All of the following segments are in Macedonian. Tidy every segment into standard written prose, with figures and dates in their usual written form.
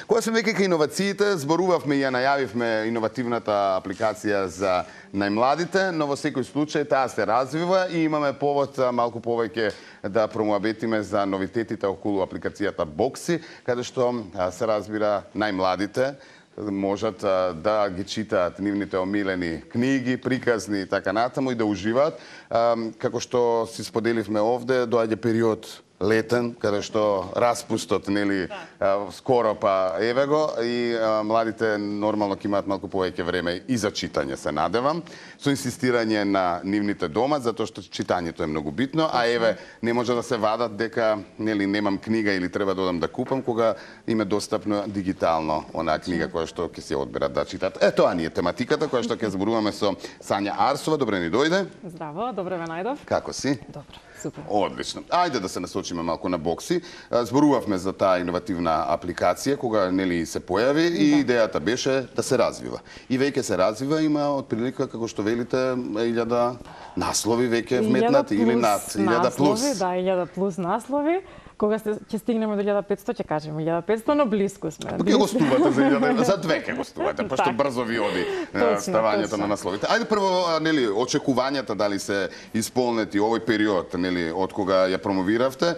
Кога сме веќе кај иновациите, зборувавме и ја најавивме иновативната апликација за најмладите, но во секој случај таа се развива и имаме повод малку повеќе да промоабетиме за новитетите околу апликацијата Бокси, каде што се разбира најмладите можат да ги читаат нивните омилени книги, приказни и така натаму и да уживаат. Како што си споделивме овде, доаѓа период летен, каде што распустот, нели, скоро па еве го и младите нормално ќе имаат малку повеќе време и за читање, се надевам, со инсистирање на нивните дома, затоа што читањето е многу битно, а еве не може да се вадат дека нели немам книга или треба да одам да купам кога им е достапно дигитално онаа книга која што ќе се одберат да читат. Тоа ни е тематиката која што ќе зборуваме со Сања Арсова. Добре ни дојде. Здраво, добре ве најдов. Како си? Добро. Супер. Одлично. Ајде да се насочиме малку на Бокси. Зборувавме за таа иновативна апликација кога нели се појави и идејата беше да се развива. И веќе се развива, има отприлика како што велите 1000 наслови веќе вметнати или над 1000 плюс. Да, 1000 плюс наслови. Кога ќе стигнеме до 1500 ќе кажеме 1500, но близко сме. Ќе гостувате за 1000, за две ќе гостувате, пошто брзо ви оди ставањето на насловите. Ајде прво нели очекувањата дали се исполнети овој период, нели од кога ја промовиравте,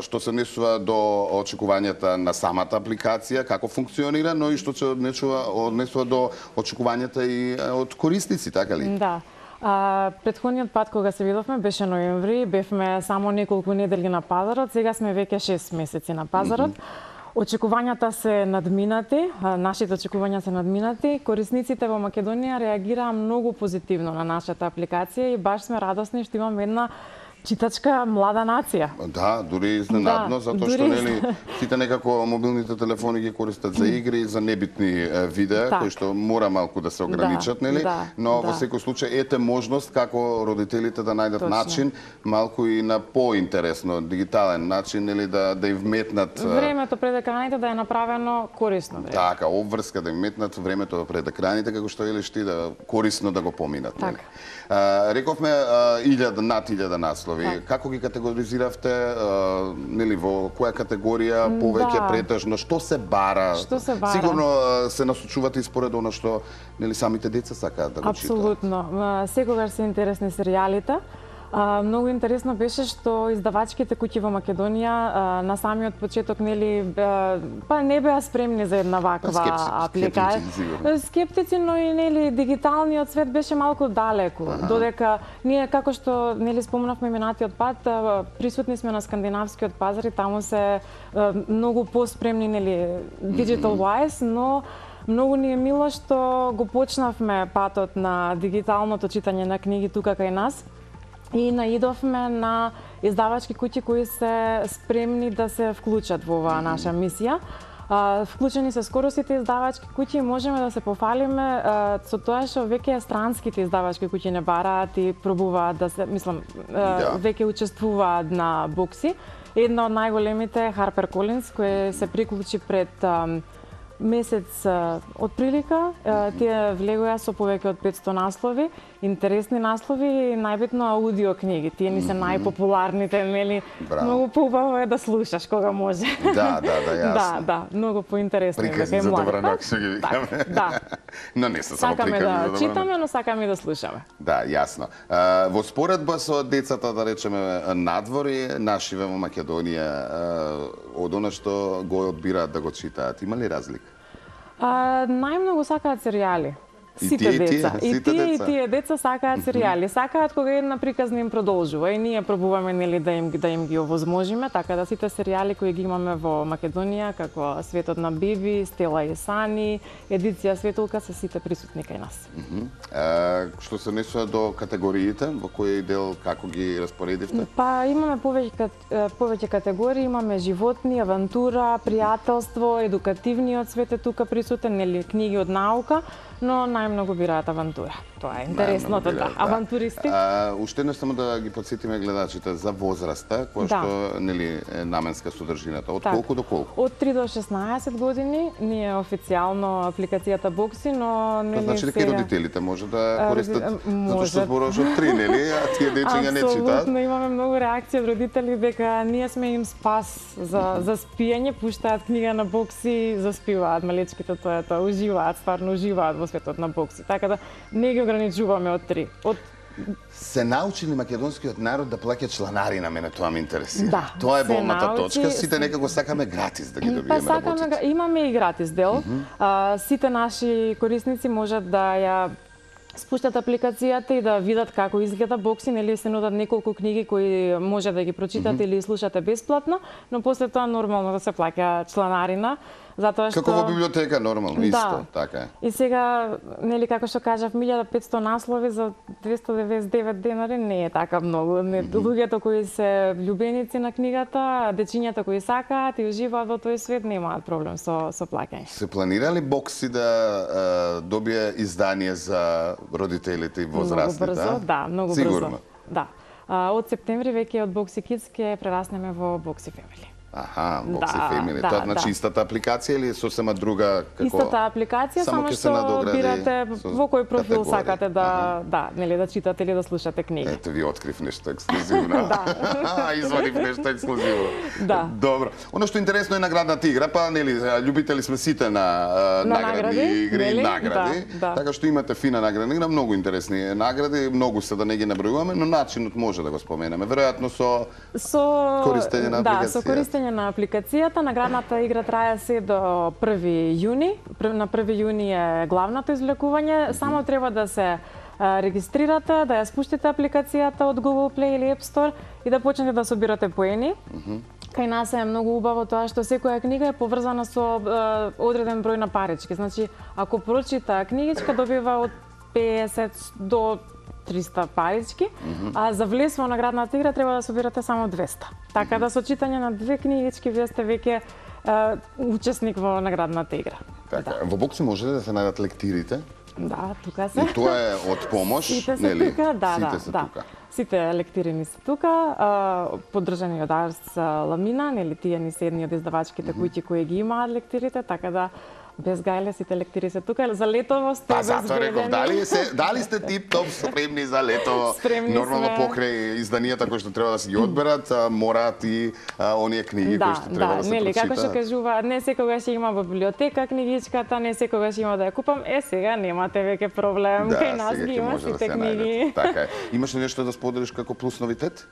што се однесува до очекувањата на самата апликација, како функционира, но и што се однесува до очекувањата и од корисници, така ли? Да. Претходниот пат кога се видовме беше ноември, бевме само неколку недели на пазарот, сега сме веќе 6 месеци на пазарот. Очекувањата се надминати, нашите очекувања се надминати. Корисниците во Македонија реагираа многу позитивно на нашата апликација и баш сме радосни што имаме една читачка млада нација. Да, дури изненадно, затоа што нели сите некако мобилните телефони ги користат за игри, за небитни видеа, кои што мора малку да се ограничат, нели? Но во секој случај ете можност како родителите да најдат начин малку и на поинтересно, дигитален начин, нели да им вметнат времето пред екраните да е направено корисно време. Така, обврска да им метнат времето пред екраните како што елиш ти да корисно да го поминат, нели? Рековме 1000 наслови. Како ги категоризиравте, нели во која категорија повеќе претежно, што се бара? Сигурно се насочувате и според она што нели самите деца сакаат да го читаат. Апсолутно. Секогаш се интересни серијалите. Многу интересно беше што издавачките куќи во Македонија на самиот почеток нели па не беа спремни за една ваква апликација. Скептици, но и нели дигиталниот свет беше малку далеку. Додека ние како што нели спомнавме минатиот пат, присутни сме на скандинавскиот пазар и таму се многу поспремни нели digital wise, но многу ни е мило што го почнавме патот на дигиталното читање на книги тука кај нас. И наидовме на издавачки куќи кои се спремни да се вклучат во оваа наша мисија. Вклучени се скоро сите издавачки куќи и можеме да се пофалиме со тоа што веќе странските издавачки куќи не бараат и пробуваат да се, мислам, веќе учествуваат на Бокси. Една од најголемите е Harper Collins, кој се приклучи пред месец од прилика. Тие влегоа со повеќе од 500 наслови, интересни наслови и најбитно аудио книги. Тие ни се најпопуларните, нели? Многу поубаво е да слушаш кога може. Да, јасно. Да, многу поинтересно. Приказни за добра ног, што ги викаме. Да. Но не се само приказни за добра ног. Сакаме да читаме, но сакаме и да слушаме. Да, јасно. Во споредба со децата, да речеме, надвори, нашиве во Македонија, од она што го одбираат да го читаат, има ли разлика? Најмногу сакаат серијали. Сите деца. И тие деца сакаат серијали. Сакаат кога една приказна им продолжува и ние пробуваме нели да им ги овозможиме, така да сите серијали кои ги имаме во Македонија, како Светот на Биби, Стела и Сани, Едиција Светулка, се сите присутни кај нас. Што се однесува до категориите, во кој дел како ги распоредивте? Па имаме повеќе категории, имаме животни, авантура, пријателство, едукативниот свет е тука присутен, нели книги од наука, но најмногу бираат авантура. Тоа е интересното, да. Авантуристи. Уште еднаш само да ги подсетиме гледачите за возраста, која што нели е наменска содржината. Од колку до колку? Од 3 до 16 години ние официјално апликацијата Бокси, но нели значи дека и родителите може да користат, затоа што зборуваш од 3, нели? А тие дечиња не читаат. Апсолутно, имаме многу реакции од родители дека ние сме им спас за спиење, пуштаат книга на Бокси, заспиваат малечките, тоа уживаат, стварно уживаат во светот на Бокси. Така да не ги ограничуваме од 3. Се научи ли македонскиот народ да плаќа чланарина? Мене тоа ме интересира. Да, тоа е болната точка. Сите некако сакаме гратис да ги добиеме работите. Имаме и гратис дел. Сите наши корисници можат да ја спуштат апликацијата и да видат како изгледа Бокси, нели се нудат неколку книги кои може да ги прочитате или слушате бесплатно, но после тоа нормално да се плаќа чланарина, затоа што како во библиотека нормално исто, така е. И сега нели како што кажав 1500 наслови за 299 денари не е така многу. Луѓето кои се влюбеници на книгата, дечињата кои сакаат и уживаат во тој свет немаат проблем со плаќање. Се планира ли Бокси да добие издание за родителите и возрастните? Многу брзо, да, многу Сигурно. брзо. Да. Од септември веќе од Бокси Kids ќе прераснеме во Бокси Family. Аха, Бокси Family. Тоа значи истата апликација или сосема друга како? Истата апликација, само што бирате во кој профил сакате да, нели да читате или да слушате книги. Ето ви открив нешто ексклузивно. Извадив нешто ексклузивно. Да. Добро. Оно што интересно е наградната игра, па нели љубители сме сите на наградни игри и награди. Така што имате фина наградна игра, многу интересни награди, многу се да не ги набројуваме, но начинот може да го споменеме. Веројатно со користење на апликација. Да, со користење на апликацијата. Наградната игра трае се до 1 јуни. На 1 јуни е главното извлекување. Само треба да се регистрирате, да ја спуштите апликацијата од Google Play или App Store и да почнете да собирате поени. Кај нас е многу убаво тоа што секоја книга е поврзана со одреден број на парички. Значи, ако прочита книгичка, добива од 50 до 300 парички, а за влез во наградната игра треба да собирате само 200. Така да со читање на 2 книгички вие сте веќе учесник во наградната игра. Така, во Бокси може да се најдат лектирите? Да, тука се. И тоа е од помош, нели? Тука, Сите се тука. Сите лектирани се тука, поддржани од Арс Ламина, нели тие ни се едни од издавачките куќи кои ги имаат лектирите, така да без гајле сите лектири се тука. За летово сте безбедени. Затоа реков, дали сте тип-топ спремни за летово? Нормално покрај изданијата кои што треба да се ги одберат, мораат и оние книги кои што треба да се прочитаат. Како што кажува, не секогаш има во библиотека книгичката, не секогаш има да ја купам. Сега немате веќе проблем. Кај нас ги има сите книги. Така е. Имаш ли нешто да споделиш како плюс новитет?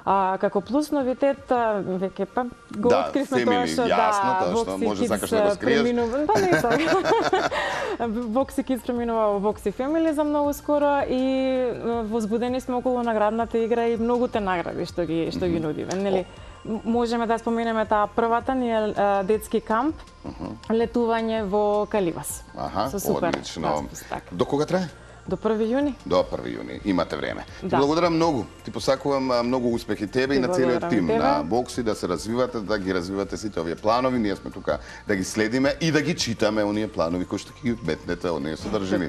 Како плюс новитет, веќе го откривме тоа што Бокси Kids преминува. Па не така. Бокси Kids преминува во Бокси Family за многу скоро и возбудени сме околу наградната игра и многуте награди што ги нудиме. Нели можеме да споменеме таа првата ни е детски камп, летување во Каливас. Одлично. До кога трае? До 1 јуни. До 1 јуни. Имате време. Ти благодарам многу. Ти посакувам многу успехи тебе и на целиот тим на Бокси, да се развивате, да ги развивате сите овие планови. Ние сме тука да ги следиме и да ги читаме оние планови кои што ги метнете, оние содржини.